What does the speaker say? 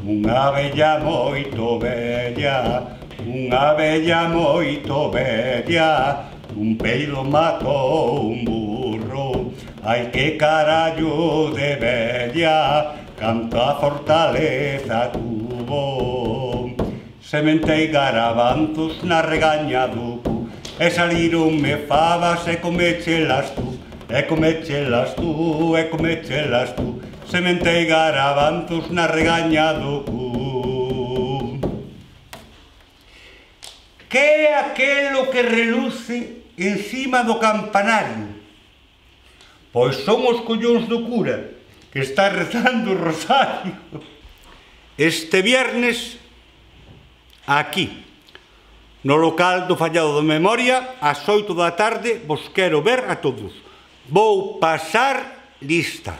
unha vella moito vella, unha vella moito vella, un peido matou un burro. Ai, que carallo de vella, canta fortaleza tuvo. Sementei garabanzos na regaña do cu, e salironme fabas e comechelas tú, e comechelas tú, e comechelas tú. Sementei garabanzos na regaña do cu. Que é aquelo que reluce encima do campanario? Pois son os collóns do cura, que está rezando o rosario. Este viernes, aquí, no local do Fallado de Memoria, ás 8 da tarde, vos quero ver a todos. Vou pasar lista.